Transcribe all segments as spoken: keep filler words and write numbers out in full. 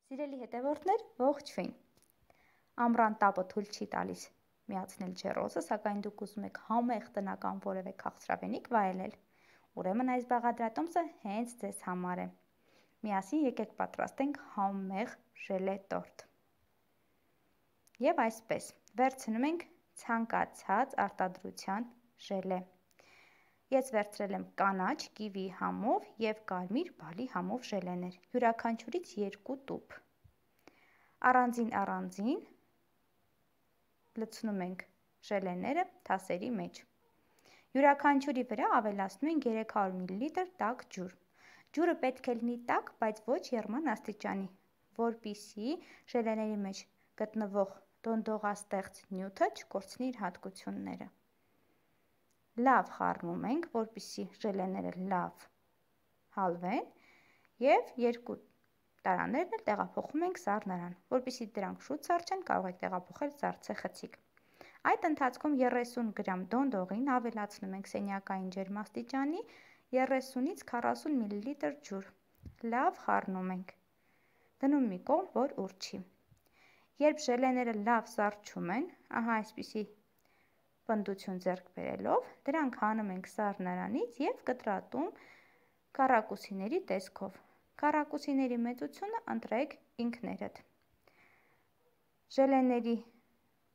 Սիրելի հետևորդներ, ողջույն։ Ամռան տապը թույլ չի տալիս միացնել ջեռոցը, սակայն դուք ուզում եք համեղ տնական որևէ քաղցրավենիք վայելել։ Ուրեմն այս բաղադրատոմսը հենց ձեզ համար է։ Միասին եկեք պատրաստենք համեղ ժելե տորտ։ Եվ այսպես, վերցնում ենք ցանկացած արտադրության ժելե։ Ես վերցրել եմ կանաչ կիվի համով և կարմիր բալի համով ժելեներ, յուրաքանչյուրից երկու տուփ։ Առանձին առանձին լցնում ենք ժելեները թասերի մեջ։ Յուրաքանչյուրի վրա ավելացնում ենք երեք հարյուր միլիլիտր տաք ջուր։ Ջուրը պետք է լինի տաք, բայց ոչ եռման աստիճանի, որպեսզի ժելեների մեջ գտնվող դոնդողաստեղծ նյութը չկորցնի իր հատկությունները։ Լավ խառնում ենք, որպեսզի ժելեները լավ հալվեն և երկու տարաներն էլ տեղափոխում ենք սառնարան, որպեսզի դրանք շուտ սառչեն, կարող եք տեղափոխել սառցեխցիկ։ Այդ ընթացքում երեսուն գրամ դոնդողին ավելացնում ենք սենյակային ջերմաստիճանի երեսունից քառասուն միլիլիտր ջուր։ Լավ խառնում ենք։ Դնում մի կողմ, որ ուռչի։ Երբ ժելեները լավ սառչում են, ահա այսպիսի պնդություն ձեռք բերելով, դրանք հանում ենք սառնարանից և կտրատում քառակուսիների տեսքով։ Քառակուսիների մեծությունը ընտրեք ինքներդ։ Ժելեների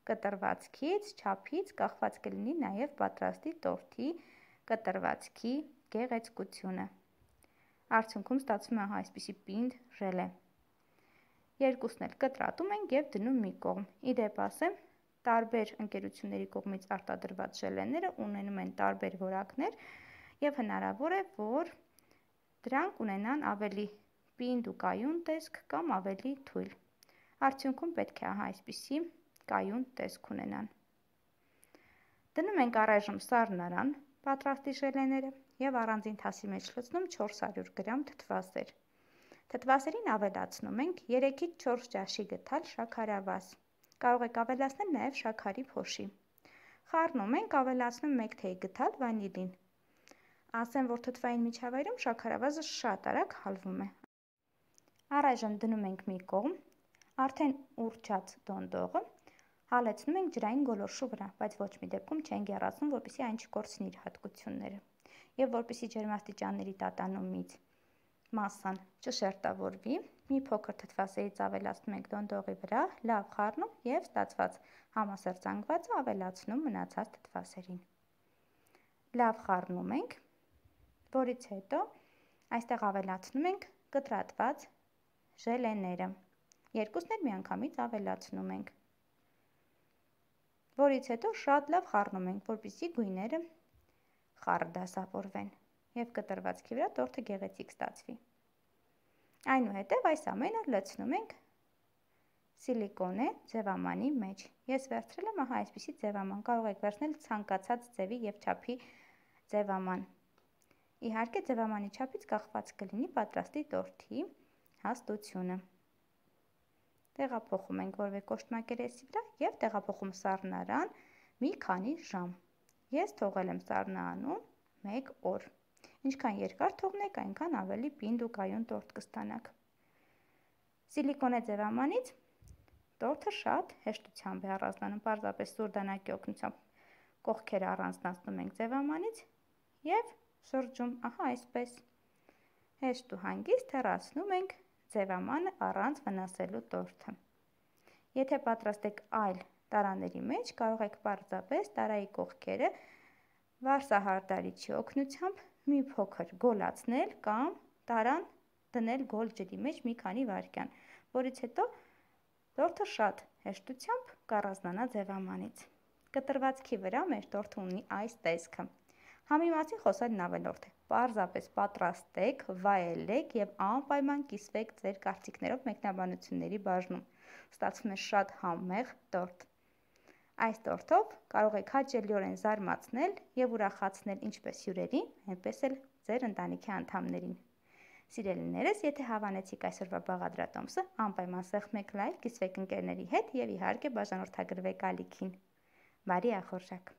կտրվածքից, չափից կախված կլինի նաև պատրաստի տորտի կտրվածքի գեղեցկությունը։ Արդյունքում ստացվում է այսպիսի պինդ ժելե։ Երկուսն էլ կտրատում ենք և դնում մի կողմ։ Ի դեպ ասեմ, տարբեր ընկերությունների կողմից արտադրված ժելեները ունենում են տարբեր որակներ և հնարավոր է, որ դրանք ունենան ավելի պինդ ու կայուն տեսք կամ ավելի թույլ։ Արդյունքում պետք է ահա այսպիսի կայուն տեսք ունենան։ Դնում ենք առայժմ սառնարան պատրաստի ժելեները և առանձին թասի մեջ լցնում չորս հարյուր գրամ թթվասեր։ Թթվասերին ավելացնում ենք երեքից չորս ճաշի գդալ շաքարավազ։ Կարող եք ավելացնել նաև շաքարի փոշի։ Խառնում ենք, ավելացնում մեկ թեյ գդալ վանիլին։ Ասեմ, որ թթվային միջավայրում շաքարավազը շատ արագ հալվում է։ Առայժմ դնում ենք մի կողմ, արդեն ուռչած դոնդողը հալեցնում ենք ջրային գոլորշու վրա, բայց ոչ մի դեպքում չենք եռացնում, որպեսզի այն չկորցնի իր հատկությունները։ Եվ որպեսզի ջերմաստիճանների տատանումից մասսան չշերտավորվի, մի փոքր թթվասերից ավելացնում ենք դոնդողի վրա, լավ խառնում և ստացված համասերծանգվածը ավելացնում մնացած թթվասերին։ Լավ խառնում ենք, որից հետո այստեղ ավելացնում ենք կտրատված ժելեները։ Երկուսն էլ միանգամից ավելացնում ենք։ Որից հետո շատ լավ խառնում ենք, որպեսզի գույները խառը դասավորվեն և կտրվածքի վրա տորտը գեղեցիկ ստացվի։ Այնուհետև այս ամենը լցնում ենք սիլիկոնե ձևամանի մեջ։ Ես վերցրել եմ ահա այսպիսի ձևաման, կարող եք վերցնել ցանկացած ձևի և չափի ձևաման։ Իհարկե ձևամանի չափից կախված կլինի պատրաստի տորտի հաստությունը։ Տեղափոխում ենք որևէ կոշտ մակերեսի վրա և տեղափոխում սառնարան մի քանի ժամ։ Ես թողել եմ սառնարանում մեկ օր։ Ինչքան երկար թողնեք, այնքան ավելի պինդ ու կայուն տորտ կստանաք։ Սիլիկոնե ձևամանից տորտը շատ հեշտությամբ է առանձնանում, պարզապես սուր դանակի օգնությամբ կողքերը առանձնացնում ենք ձևամանից և շրջում, ահա այսպես։ Հեշտ ու հանգիստ հեռացնում ենք ձևամանը առանց վնասելու տորտը։ Եթե պատրաստեք այլ տարաների մեջ, կարող եք պարզապես տարայի կողքերը վարսահարդարիչի օգնությամբ մի փոքր գոլացնել կամ տարան դնել գոլ ջրի մեջ մի քանի վայրկյան, որից հետո տորտը շատ հեշտությամբ կառանձնանա ձևամանից։ Կտրվածքի վրա մեր տորտը ունի այս տեսքը։ Համի մասին խոսելն ավելորդ է։ Պարզապես պատրաստեք, վայելեք և անպայման կիսվեք ձեր կարծիքներով մեկնաբանությունների բաժնում։ Ստացվում է շատ համեղ տորտ։ Այս տորտով կարող եք հաճելիորեն զարմացնել և ուրախացնել ինչպես հյուրերին, այնպես էլ ձեր ընտանիքի անդամներին։ Սիրելիներս, եթե հավանեցիք այսօրվա բաղադրատոմսը, անպայման սեղմեք լայք, կիսվեք ընկերների հետ և իհարկե բաժանորդագրվեք ալիքին։ Բարի ախորժակ։